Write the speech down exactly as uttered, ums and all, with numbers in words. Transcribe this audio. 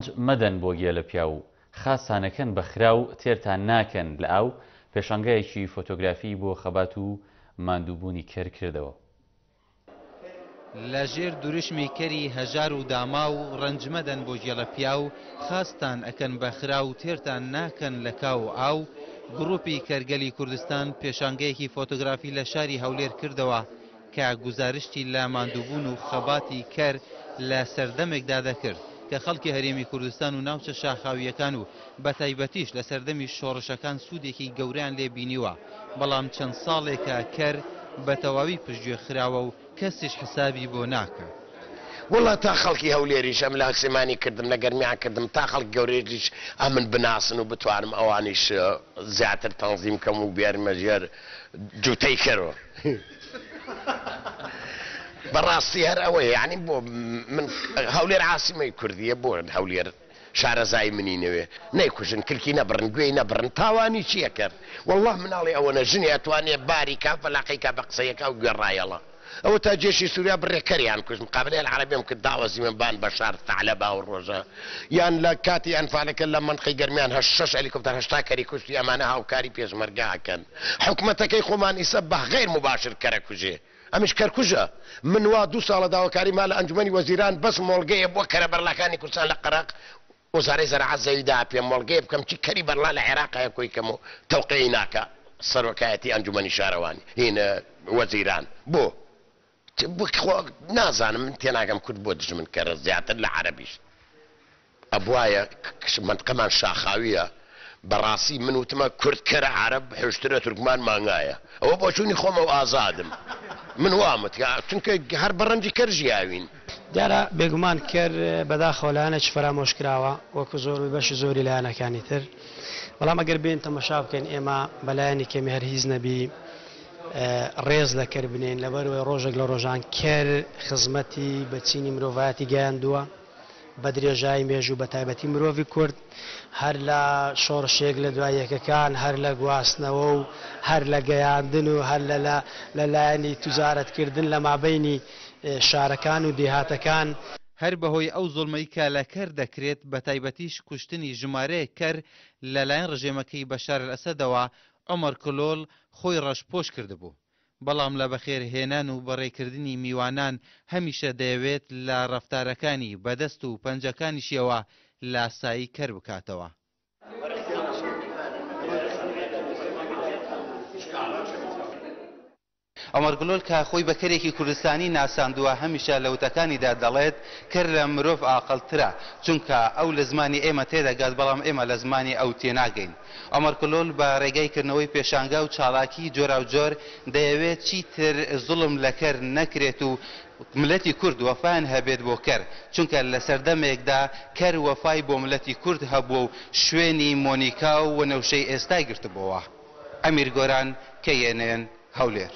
مەدەن بۆ گێلە پیاو، خاستانەکەن بە خراو، تێرتان ناکەن لە ئاو، پێشانگایەکی فۆتۆگرافی بۆ خەبات و ماندووبوونی کەر کردەوە. لە ژێر دروشمی کەری هەژار و داماو، ڕەنج مەدەن بۆ گێلە پیاو، خاستان ئەکەن بە خراو، تێرتان ناکەن لە کاو و ئاو، گروپی کەرگەلی کوردستان پێشانگەیەکی فۆتۆگرافی لە شاری هەولێر کردەوە کە گوزارشتی لە ماندووبوون و خەباتی کەر لە سەردەمێکدا دەکرد کە خەڵکی هەرێمی کوردستان و ناوچە شاخاوییەکان و بەتایبەتیش لە سەردەمی شۆڕشەکان سوودێکی گەورەیان لێ بینیوە، بەڵام چەند ساڵێکە کەر بە تەواوی پشتگوێ خراوە و کەسیش حسابی بۆ ناکات. وەڵا تا خەڵکی هەولێریش ئەم لە سلێمانی کردم لە گەرمیان کردم تا خەڵکی گەورەیش ئەمن بناسن و بتوانم ئەوانیش زیاتر تەنزیم کەم و بێرمە ژێر جوتەی کەرۆ. بەڕاستی هەر ئەوەیە، یعنی بۆ من هەولێر عاسیمەی کوردیە، بۆ هەولێر شارەزای منی نەوێ، نەیکوژن، کلکی نەبڕن، گوێی نەبڕن، تاوانی چییە کرد؟ والله مناڵی ئەوە ژنی ئەتوانێ باری کا فەلاقەی کا بە قسەیەکا و گوێ ڕایەڵە. ئەوە تا جێشی سووریا بڕێکەریان کوشت، مقابلەی العربیم کرد، داوەزیمە بان بەشار ثعلبا و ڕۆژە، یان لە کاتی ئەنفالەکە لە مەنقەی گەرمیان هەشت شەش هەلیکۆپتەر هەشتا کەری کوشتی، ئەمانە هاوکاری پێشمەرگە ئەکەن. حکومەتەکەی خۆمان ئیسە بە غەیر مباشر کەرەکوژێ، ئەمیش کەرکوژە. من وا دوو ساڵە داواکاری ما لە ئەنجومەنی وەزیران بەس مۆڵگەیە بۆ کەرە بەرلاکانی کوردستان لە قەراق وەزارەی زەراعەت زەوی دا پێم مۆڵگەیە بکەم چی کەری بەرلا لە عێراقایە کۆی کەم و تەوقەی ناکە سەرۆکایەتی ئەنجومەنی شارەوانی هین وەزیران. بۆ نازانم، من تێناگەم کورد بۆ دژمن کەرە زیاتر لە عەرەبیش. ئەبوایە منطقەمان شاخاویە، بەڕاستی من وتمە کورد کەرە عەرەب حوشترە تورکمان مانگایە، ئەوە بۆچوونی خۆمە و ئازادم. من وامت چونکە هەر بەڕەنجی کەر ژیاوین. دیارە بێگومان کەر بەداخەوە لایەنێکی فەرامۆش کراوە وەکو زۆر بەشی زۆری لایەنەکانی تر، بەڵام ئەگەر بێن تەمەشا بکەین ئێمە بەلایەنی کەمی هەر هیچ نەبی ڕێز لە کەر بنێین، لەبەرەوەی ڕۆژێک لە ڕۆژان کەر خزمەتی بە چینی مرۆڤایەتی گەیاندووە بە درێژایی مێژوو بە تایبەتی مرۆڤی کورد، هەر لە شۆڕشێک لە دوای یەکەکان، هەر لە گواستنەوە و هەر لە گەیاندن و هەر لە لایەنی توجارەتکردن لە مابەینی شارەکان و دێهاتەکان. هەر بەهۆی ئەو زوڵمەی کە لە کەر دەکرێت، بە تایبەتیش کوشتنی ژمارەیەک کەر لەلایەن ڕژێمەکەی بەشار ئەلئەسەدەوە، عومەر کلۆڵ خۆی ڕەشپۆش کردبوو. بەڵام لە بەخێرهێنان و بەڕێکردنی میوانان هەمیشە دەیەوێت لە ڕەفتارەکانی بەدەست و پەنجەکانیشیەوە لاسایی کەر بکاتەوە. عومەر گلۆل کە خۆی بە کەرێکی کوردستانی ناساندووە، هەمیشە لە وتەکانیدا دەڵێت کەر لە مرۆڤ ئاقلترە، چونکە ئەو لە زمانی ئێمە تێدەگات بەڵام ئێمە لە زمانی ئەو تێناگەین. عومەر کلۆل بە ڕێگای کردنەوەی پێشانگا و چالاکی جۆراوجۆر دەیەوێت چیتر زوڵم لە کەر نەکرێت و ملەتی کورد وەفایان هەبێت بۆ کەر، چونکە لە سەردەمێکدا کەر وەفای بۆ ملەتی کورد هەبووە و شوێنی مۆنیکا و وەنەوشەی ئێستای گرتبووەوە. ئەمیر گۆران، K N N، هەولێر.